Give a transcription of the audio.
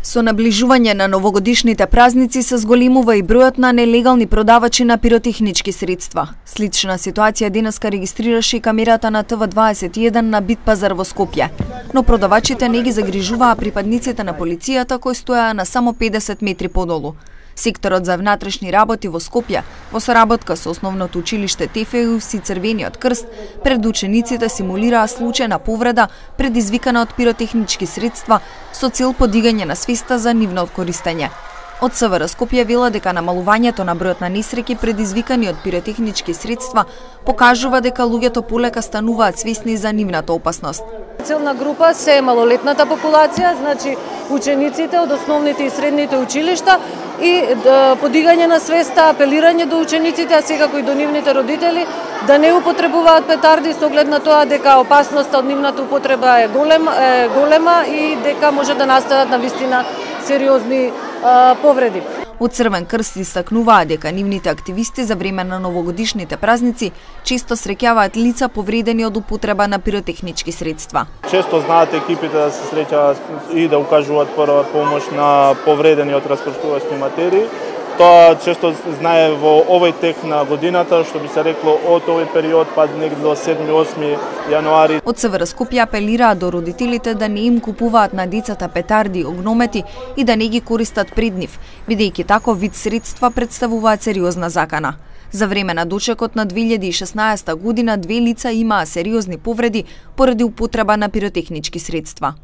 Со наближување на новогодишните празници се зголемува и бројот на нелегални продавачи на пиротехнички средства. Слична ситуација денеска регистрираше и камерата на ТВ21 на Бит пазар во Скопје. Но продавачите не ги загрижуваа припадниците на полицијата кои стоеа на само 50 метри подолу. Секторот за внатрешни работи во Скопје, во соработка со основното училиште ТФУС и Црвениот крст, пред учениците симулираа случај на повреда предизвикана од пиротехнички средства со цел подигање на свеста за нивно користење. Од СВР Скопје вела дека намалувањето на бројот на несреќи предизвикани од пиротехнички средства покажува дека луѓето полека стануваат свесни за нивната опасност. Целна група се малолетната популација, значи учениците од основните и средните училишта и подигање на свеста, апелирање до учениците, а секако и до нивните родители да не употребуваат петарди со оглед на тоа дека опасноста од нивната употреба е голема и дека може да настанат навистина сериозни повреди. Од Црвен крст истакнуваа дека нивните активисти за време на новогодишните празници често среќаваат лица повредени од употреба на пиротехнички средства. Често знаат екипите да се среќаваат и да укажуваат прва помош на повредени од распрштувачни материи. Тоа често знае во овој тек на годината, што би се рекло од овој период па негде до 7-8 јануари. Од СВР Скопје апелираа до родителите да не им купуваат на децата петарди и огномети и да не ги користат пред нив, бидејќи таков вид средства представуваат сериозна закана. За време на дочекот на 2016 година 2 лица имаа сериозни повреди поради употреба на пиротехнички средства.